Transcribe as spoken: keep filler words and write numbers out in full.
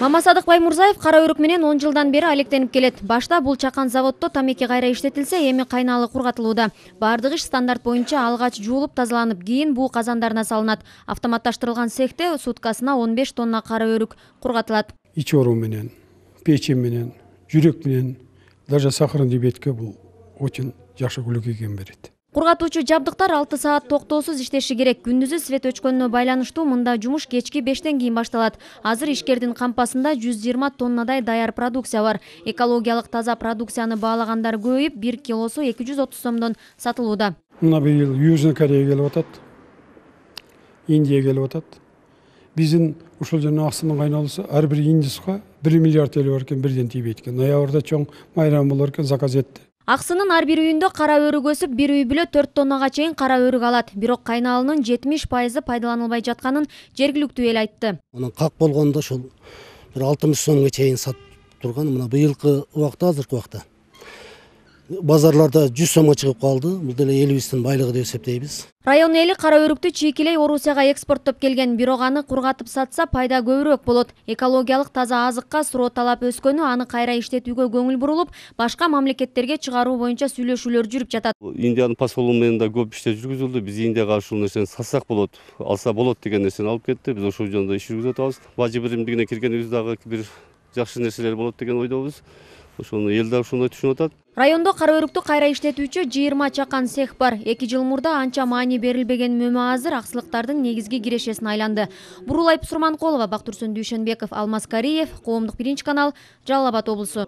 Мамасадык Баймурзаев кара өрүк менен он жылдан бери алектенип келет. Башта бул чакан заводдо тамеки кайра иштетилсе, эми кайналы кургатылууда. Бардык иш стандарт боюнча алгач жуулуп тазаланып, кийин буу казандарына салынат. Автоматташтырылган цехте суткасына он беш тонна кара өрүк кургатылат. Ич оору менен, печень менен, жүрөк менен, даже сахарный диабетке бул очень жакшы глюкоген берет. Кургатуучу жабдыктар алты саат токтоосуз иштеши керек. Күндүзү свет өчкөнүнө байланыштуу мында жумуш кечки бештен кийин башталат. Азыр ишкердин кампасында жүз жыйырма тоннадай даяр продукция бар. Экологиялык таза продукцияны баалагандар көбөйүп, бир килосу эки жүз отуз сомдон сатылууда. Мына быйыл Южный Корея келип атат, Индия келип атат. Биздин ушул жана аксынын кайналысы ар бир индуска бир миллиард эле бар экен, бирден тийбейт экен. Ноябрда чоң майрам болор экен, заказ этти. Аксынын ар бир үйүндө кара өрүк өсүп, бир үй бүлө төрт тоннага чейин кара өрүк алат. Бирок кайналынын жетимиш пайызы пайдаланылбай жатканын жергиликтүү эл айтты. Анан как болгондо ошол бир алтымыш сомго чейин сатып турган. Мына быйылкы убакта, азыркы убакта базарларда жүз сомго чыгып калды. Бул деле элибиздин байлыгы деп эсептейбиз. Район эли кара өрүктү чийкилей Орусияга экспорттоп келген, бирок аны кургатып сатса пайда көбүрөөк болот. Экологиялык таза азыкка суроо талап өскөнү, аны кайра иштетүүгө көңүл бурулуп, башка мамлекеттерге чыгаруу боюнча сүйлөшүүлөр жүрүп жатат. Индиянын посолу менен да көп иштер жүргүзүлдү. Биз Индияга ушул нерсени сатсак болот, алса болот деген нерсени алып кетти. Биз ошол жөнүндө иш жүргүзүп атабыз. Бажы биримдигине киргенибиз дагы бир жакшы нерселер болот деген ойдобуз. Ошону эл да ошондой түшүнүп атат. Райондо кара өрүктү кайра иштетүүчү жыйырма чакан цех бар. эки жыл мурда анча маани берилбеген мөмө азыр аксылыктардын негизги кирешесине айланды. Бурулай Сурманкулова, Бактурсун Дүйшөнбеков, Алмаз Кариев, Коомдук биринчи канал, Жалал Абад облусу.